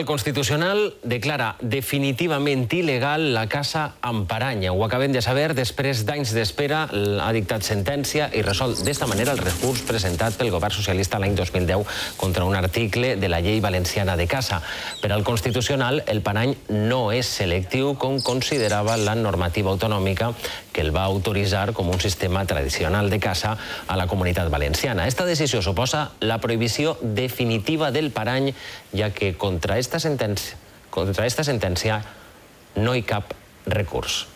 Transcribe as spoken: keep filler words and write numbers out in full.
Tribunal Constitucional declara definitivament il·legal la Casa Amparanya. Ho acabem de saber després d'anys d'espera. Ha dictat sentència i resol d'esta manera el recurs presentat pel govern socialista l'any dos mil deu contra un article de la llei valenciana de caça. Per al Constitucional, el parany no és selectiu com considerava la normativa autonòmica que el va autoritzar com un sistema tradicional de caça a la comunitat valenciana. Esta decisió suposa la prohibició definitiva del parany, ja que contra esta sentència, contra esta sentència no hi cap recurs.